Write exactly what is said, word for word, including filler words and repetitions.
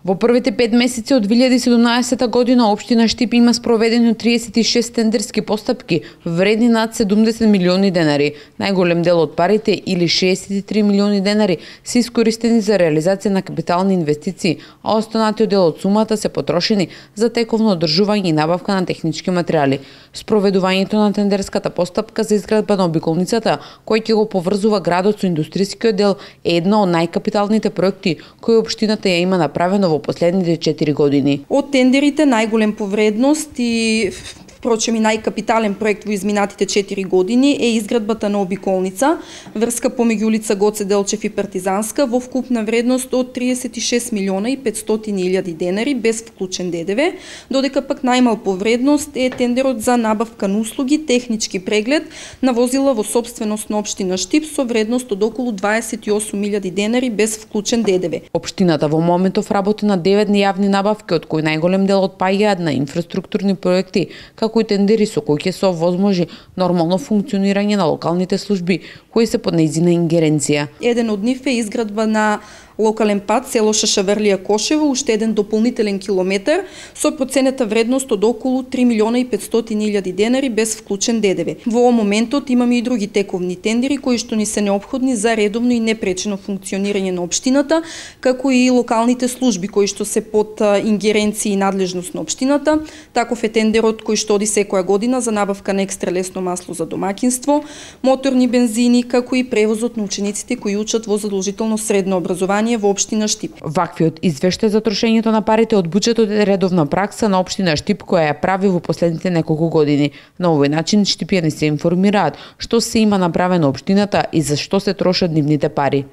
Во првите пет месеци од две илјади и седумнаесета година општина Штип има спроведени триесет и шест тендерски постапки вредни над седумдесет милиони денари. Најголем дел од парите или шеесет и три милиони денари се искористени за реализација на капитални инвестиции, а останатиот дел од сумата се потрошени за тековно одржување и набавка на технички материјали. Спроведувањето на тендерската постапка за изградба на обиколницата, кој ќе го поврзува градот со индустријскиот дел, е едно од најкапиталните проекти кои општината ја има направено во последните четири години. Од тендерите најголем по вредност и впрочем и најкапитален проект во изминатите четири години е изградбата на обиколница, врска помеѓу улица Гоце Делчев и Партизанска во вкупна вредност од триесет и шест милиона и петстотини илјади денари без вклучен ДДВ, додека пак најмал по вредност е тендерот за набавка на услуги, технички преглед на возила во сопственост на општина Штип со вредност од околу дваесет и осум илјади денари без вклучен ДДВ. Општината во моментов работи на девет јавни набавки, од кои најголем дел отпаѓаат на инфраструктурни проекти, како и тендери со кои ќе се овозможи нормално функционирање на локалните служби кои се под нејзина ингеренција. Еден од нив е изградба на локален пат село Шашаврлија Кошево, уште еден дополнителен километар со проценета вредност од околу три милиона и петстотини илјади денари без вклучен ДДВ. Во моментот имаме и други тековни тендери кои што ни се неопходни за редовно и непречено функционирање на општината, како и локалните служби кои што се под ингеренција и надлежност на општината. Таков е тендерот кој што оди секоја година за набавка на екстра лесно масло за домаќинство, моторни бензини, како и превозот на учениците кои учат во задолжително средно образование во општина Штип. Ваквиот извештај за трошењето на парите од буџетот е редовна пракса на општина Штип која ја прави во последните неколку години. На овој начин штипјани се информираат што се има направено општината и за што се трошат нивните пари.